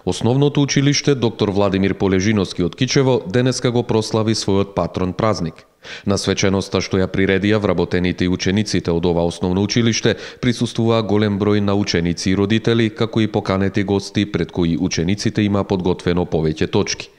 Основното училиште доктор Владимир Полежиновски од Кичево денеска го прослави својот патрон празник. На свеченоста што ја приредија вработените и учениците од ова основно училиште присуствуваа голем број на ученици и родители, како и поканети гости пред кои учениците има подготвено повеќе точки.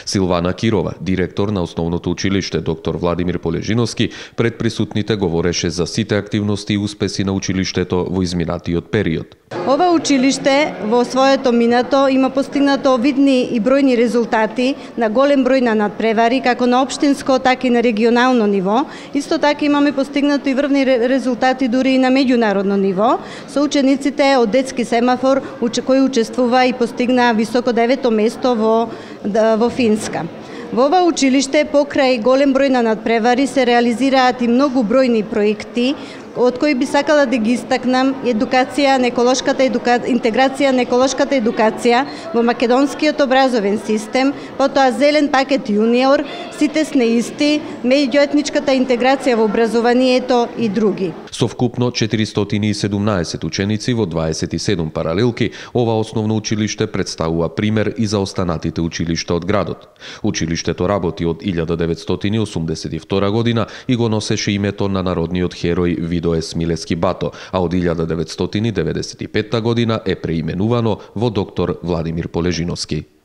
Силвана Кирова, директор на основното училиште доктор Владимир Полежиновски, пред присутните говореше за сите активности и успеси на училиштето во изминатиот период. Ова училиште во своето минато има постигнато видни и бројни резултати на голем број на надпревари, како на општинско, така и на регионално ниво. Исто така имаме постигнато и врвни резултати дури и на меѓународно ниво, со учениците од детски семафор кои учествува и постигна високо 9-то место во Финска. Во ова училиште покрај голем број на надпревари се реализираат и многу бројни проекти, од кои би сакала да ги истакнам интеграција на еколошката едукација во македонскиот образовен систем, потоа зелен пакет јуниор, сите сме исти, меѓуетничката интеграција во образованието и други. Со вкупно 417 ученици во 27 паралелки, ова основно училиште представува пример и за останатите училишта од градот. Училиштето работи од 1982 година и го носеше името на народниот херој Видоес Милески Бато, а од 1995 година е преименувано во доктор Владимир Полежиновски.